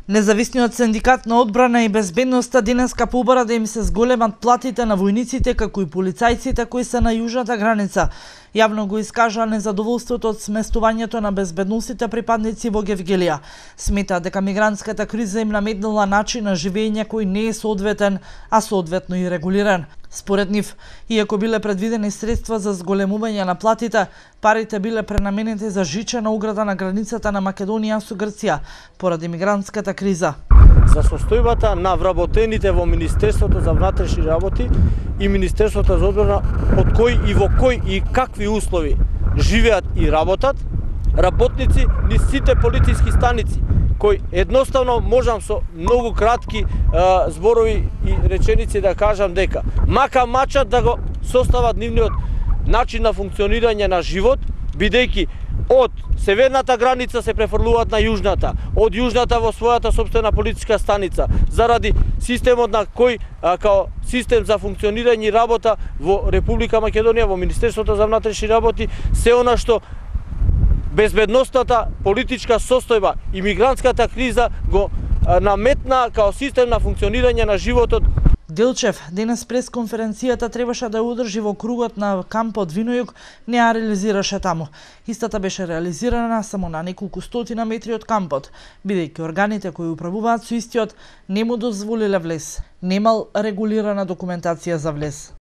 Независниот синдикат на одбрана и безбедноста денеска побара да им се зголемат платите на војниците како и полицајците кои се на јужната граница. Јавно го искажа незадоволството од сместувањето на безбедносните припадници во Гевгелија. Смета дека мигрантската криза им наметнала начин на живење кој не е соодветен, а соодветно и регулиран. Според нив, иако биле предвидени средства за зголемување на платите, парите биле пренаменети за жичена ограда на границата на Македонија со Грција поради мигрантската криза. За состојбата на вработените во Министерството за внатрешни работи и Министерството за одбрана, од кој и во кој и какви услови живеат и работат работници низ сите полициски станици, кој едноставно можам со многу кратки зборови и реченици да кажам дека мака мачат да го состават нивниот начин на функционирање на живот, бидејќи од северната граница се префрлуваат на јужната, од јужната во својата сопствена полициска станица, заради системот на кој као систем за функционирање и работа во Република Македонија, во Министерството за внатрешни работи, се она што безбедностната политичка состојба и мигрантската криза го наметна као систем на функционирање на животот. Делчев денес пресконференцијата требаше да ја одржи во кругот на кампот Винојук, не ја реализираше таму. Истата беше реализирана само на неколку стотина метри од кампот, бидејќи органите кои управуваат со истиот не му дозволиле влез. Немал регулирана документација за влез.